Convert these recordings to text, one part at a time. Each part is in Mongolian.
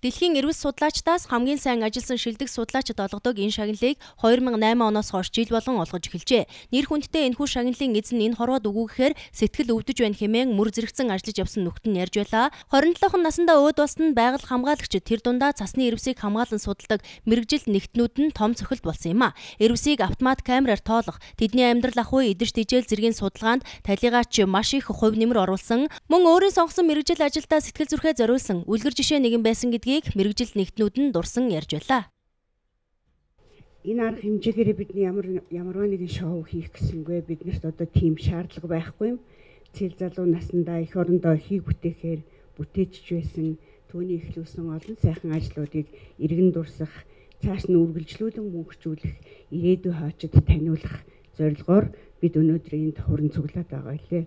Дэлхийн эрүүл судлаачдаас хамгийн сайн ажилласан шилдэг судлаачид олгодог энэ шагналыг 2008 оноос хойш жил болгон олгож эхэлжээ. Нэр хүндтэй энэхүү шагналын эзэн энэ хорвоод өгүүгээр сэтгэл өвдөж байна хэмээн мөр зэрэгцэн ажиллаж явсан нүхт нь ярьж байлаа. 27 наснда өөд болсонд байгаль хамгаалагчид тэр дундаа цасны эрвсийг хамгаалан судалдаг мэрэгжилт нэгтнүүд нь том цохилт болсон юм а. Эрвсийг автомат камераар тоолох, тэдний амьдрал ах үе идэж тижэл зэргийн судалгаанд талигаач маш их хувь нэмэр оруулсан. Мөн өөрийн сонгосон мэрэгжил ажилдаа сэтгэл зүрхээ зориулсан үлгэр жишээ нэгэн байсан гэдгийг мэрэгжил нэгтнүүд нь дурсан ярьж байлаа. Энэ арга хэмжээгээр бидний ямарваа нэгэн шоу хийх гэсэнгүй биднэрт одоо тийм шаардлага байхгүй юм. Цэл залуу наснда эх орондоо хийг бүтээхээр бүтээжж байсан түүний эхлүүлсэн олон сайхан ажлуудыг иргэн дурсах, цааш нь үргэлжлүүлэн мөнгөжүүлэх, ирээдүйн хаачид таниулах зорилгоор бид өнөөдөр энд хуран цуглаад байгаа лээ.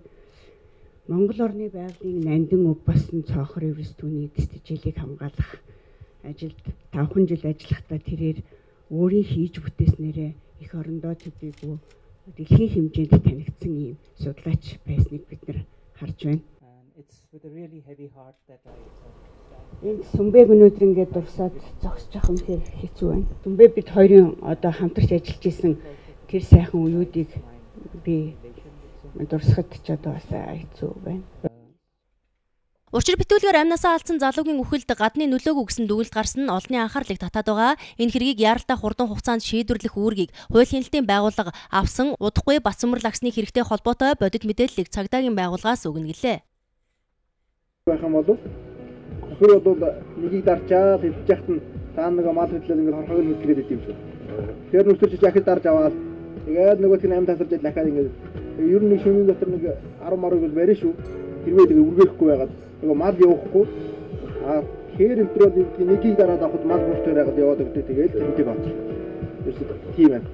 Монгол орны байгалийн нандин өв басан цоохор эрвс түүний эдстэжлийг хамгаалах ажилд 5 жил ажиллахдаа тэрээр өөрийн хийж бүтээснээрээ эх орондоо төдийгүй дэлхийн хэмжээнд танигдсан ийм судлаач байсныг бид нар харж байна. Энд Сүмбэг өнөөдөр ингээд дурсаад зогсож явах юм хэцүү байна. Сүмбэг бид хоёрын одоо хамтарч ажиллаж исэн тэр сайхан үеүүдийг би дурсахад ч одоо бас хэцүү байна. Учир битүүлгээр амнасаа алдсан залуугийн үхэлд гадны нөлөөгүй гэсэн дүгнэлт гарсан нь олонний анхаарлыг татаад байгаа. Энэ хэргийг яаралтай хурдан хугацаанд шийдвэрлэх үүргийг хууль хяналтын байгууллага авсан удахгүй Батцамөр лагсны хэрэгтэй холбоотой бодит мэдээллийг цагдаагийн байгууллагаас өгнө гэлээ. Байх юм болов хөхөр бол нэгийг дарчаад хэлж яхад нь цаа нэг мал хөдлөл ингээд хорхог нь хөдлөгээд идэв юм шүү. Тэр нүсэрч яхад дарж аваад тэгээд нөгөөх нь амт тасарч дахиад ингээд ер нь шөнийн дотор нэг 10 марыг бол барина шүү. Хэрвээ тэгээ үргээхгүй байгаад нөгөө мал явахгүй хээр энтрол нэгийг дараад авахд мал бүртээр байгаад яваад өгдөө тэгээд тэмдэг бат. Ерөөсөө тийм байна.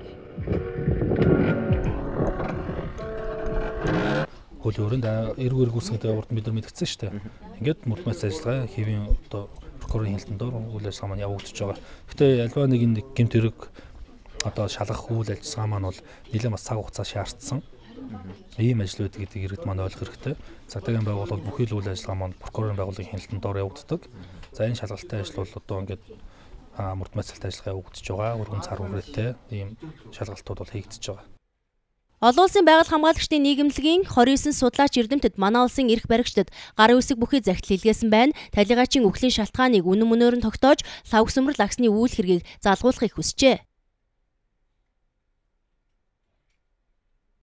Хуулийн өрөөнд эргүүр гүйцэтгэдэг урд бид нар мэдгдсэн шүү дээ. Ингээд мөрдмэс ажиллагаа хэвийн одоо прокурорын хяналтанд үйл ажиллагаа маань явагдаж байгаа. Гэтэ альва нэг гэмт хэрэг одоо шалгах үйл ажиллагаа маань бол нэлээд бас цаг хугацаа шаардсан. Ийм ажлууд гэдэг иргэд маань ойлгох хэрэгтэй. Цагдаагийн байгууллага бүхий л үйл ажиллагаа маань прокурорын байгууллагын хяналтанд явагддаг. За энэ шалгалтын ажил бол одоо ингээд мөрдмэсэлт ажиллагаа явагдаж байгаа. Өргөн цар хүрээтэй ийм шалгалтууд бол хийгдэж байгаа. Олон улсын байгаль хамгаалагчдын нийгэмлэгийн 29 судлаач эрдэмтэд манай улсын эрх баригчдад гарын үсэг бүхий захидал илгээсэн байна. Талигаачийн үхлийн шалтгааныг үнэн мөнөөр нь тогтоож лавгсөмөр лагсны үйл хэргийг залгуулахыг хүсжээ.